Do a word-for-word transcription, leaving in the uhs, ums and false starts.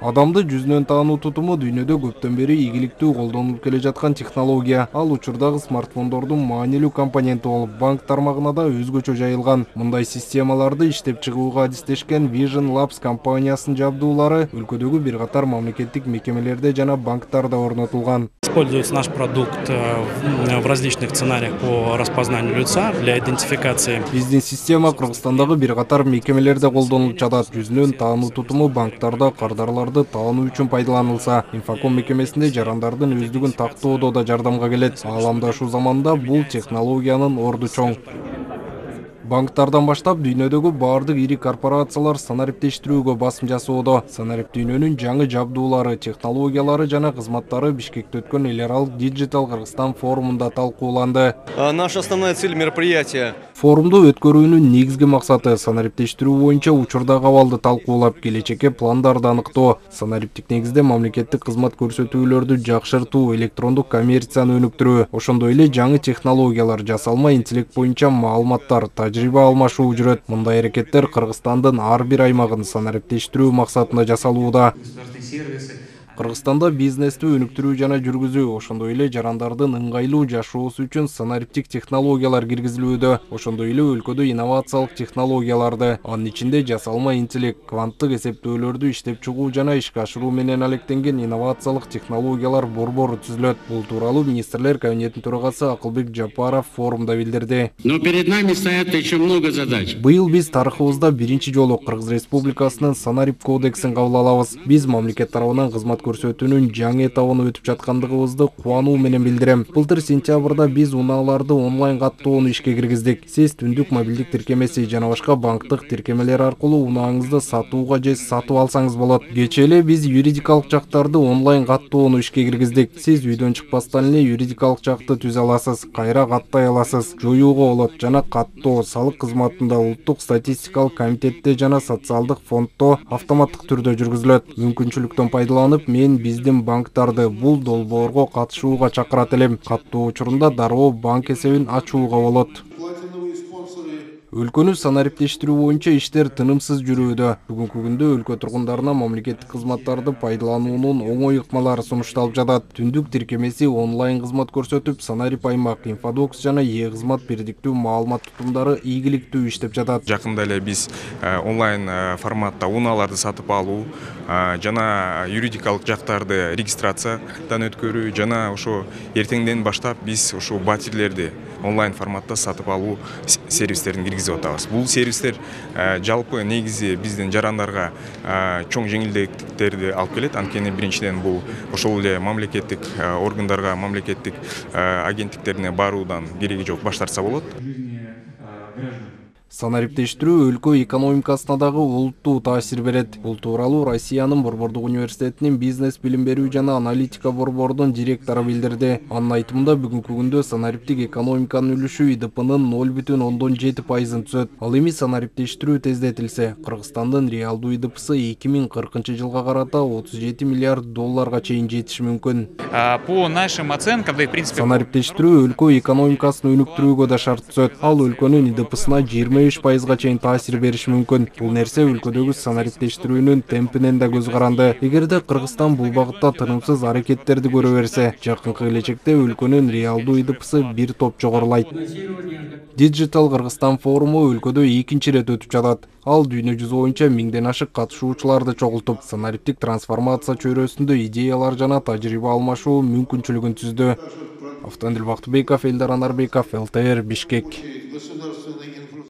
Адамды жүзүнөн таануу тутуму дүйнөдө көптөн бери ийгиликтүү колдонулуп келе жаткан технология. Ал учурдагы смартфондордун маанилүү компоненти болуп, банк тармагына да өзгөчө жайылган. Мындай системаларды иштеп чыгууга адистешкен Vision Labs компаниясынын жабдуулары өлкөдөгү бир катар мамлекеттик мекемелерде жана банктарда орнотулган. Используется наш продукт в различных сценариях по распознанию лица для идентификации. Биздин система Кыргызстандагы бир катар мекемелерде колдонулуп жатат. Жүзүнөн таануу тутуму банктарда кардарларды таануу үчүн пайдаланылса, инфоком мекемесинде жарандардын өздүгүн тактоодо да жардамга келет. Ааламдашуу заманында бул технологиянын орду чоң. Банктардан баштап дүйнөдөгү баардык ири корпорациялар санариптештирүүгө басым жасоодо. Санарип дүйнөнүн жаңы жабдуулары, технологиялары жана кызматтары Бишкекте өткөн эл аралык Digital Кыргызстан форумунда талкууланды. Наша основная цель мероприятия. Форумду өткөрүүнүн негизги максаты санариптештирүү боюнча учурдагы абалды талкуулап, келечекке пландарды аныктоо, санариптик негизде мамлекеттик кызмат көрсөтүүлөрдү жакшыртуу, электрондук коммерцияны өнүктүрүү, ошондой эле жаңы технологиялар, жасалма интеллект боюнча маалыматтар, тажрыйба алмашуу жүрөт. Мындай аракеттер Кыргызстандын ар бир аймагын санариптештирүү максатында жасалууда. Кыргызстанда бизнести өнүктүрүү жана жүргүзүү, ошондой эле жарандардын ыңгайлуу жашоосу үчүн санариптик технологиялар киргизилүүдө, ошондой эле өлкөдө инновациялык технологияларды, анын ичинде жасалма интеллект, кванттык эсептөөлөрдү иштеп чыгуу жана ишке ашыруу менен алектенген инновациялык технологиялар борбору түзүлөт. Бул тууралуу министрлер кабинетинин төрагасы Акылбек Жапаров форумда билдирди. Но перед нами стоят еще много задач. Быйыл биз тарыхыбызда биринчи жолу Кыргыз Республикасынын санарип кодексин кабыл алабыз. Биз мамлекет тарабынан кызмат көрсөтүүнүн жаңы этабына өтүп жаткандыгыбызды кубануу менен билдирем. Былтыр сентябрда биз унааларды онлайн каттоону ишке киргиздик. Сиз түндүк мобилдик тиркемеси жана башка банктык тиркемелер аркылуу унааңызды сатууга же сатып алсаңыз болот. Кечээ эле биз юридикалык жактарды онлайн каттоону ишке киргиздик. Сиз үйдөн чыкпастан эле юридикалык жакты түзө аласыз, кайра каттай аласыз, жоюуга болот жана каттоо салык кызматында улуттук статистикалык комитетте жана социалдык фонддо автоматтык түрдө жүргүзүлөт. Мүмкүнчүлүктөн пайдаланып, мен биздин банктарды бул долбоорго катышууга чакырат элем. Каттоо учурунда дароо банк эсебин ачууга болот. Өлкөнү санариптештирүү боюнча иштер тынымсыз жүрүүдө. Бүгүнкү күндө өлкө тургундарына мамлекеттик кызматтарды пайдалануунун оңой ыкмалары сунушталып жатат. Түндүк тиркемеси онлайн кызмат көрсөтүп, санарип аймак, инфодокс жана е-кызмат бирдиктүү маалымат тутумдары ийгиликтүү иштеп жатат. Жакында эле биз онлайн форматта унааларды сатып алуу жана юридикалык жактарды регистрациядан өткөрүү жана ошо эртеңден баштап биз ушул батирлерди онлайн форматта сатып алуу сервистерин киргизип атабыз. Бул сервистер жалпы негизи биздин жарандарга чоң жеңилдиктерди алып келет. Анткени биринчиден бул ошол эле мамлекеттик органдарга, мамлекеттик агенттиктерине баруудан кереги жок, баш тартса болот. Санариптештирүү өлкө экономикасына дагы олуттуу таасир берет. Бул тууралуу Россиянын Борбордук университетинин бизнес билим берүү жана аналитика борборунун директору билдирди. Анын айтымында бүгүнкү күндө санариптик экономиканын үлүшү и д пнын ноль бүтүн ондон жети пайызын түзөт. Ал эми санариптештирүү тездетилсе, Кыргызстандын реалдуу и д псы эки миң кыркынчы жылга карата отуз жети миллиард долларга чейин жетиши мүмкүн. По нашим оценкам, да и в принципе санариптештирүү өлкө экономикасын өнүктүрүүгө да шарт түзөт. Ал өлкөнүн и д псына жыйырма беш пайызга чейин таасир бериши мүмкүн. Бул нерсе өлкөдөгү санариптештирүүнүн темпинен да көз каранды. Эгерде Кыргызстан бул багытта тынымсыз аракеттерди көрө берсе, жакынкы келечекте өлкөнүн реалдуу и д псы бир топ жогорулайт. Digital Кыргызстан форуму өлкөдө экинчи ирет өтүп жатат. Ал дүйнө жүзү боюнча миңден ашык катышуучуларды чогултуп, санариптик трансформация чөйрөсүндө идеялар жана тажрыйба алмашуу мүмкүнчүлүгүн түздү. Автандил Бактыбеков, Элдар Анарбеков, эл тэ эр, Бишкек.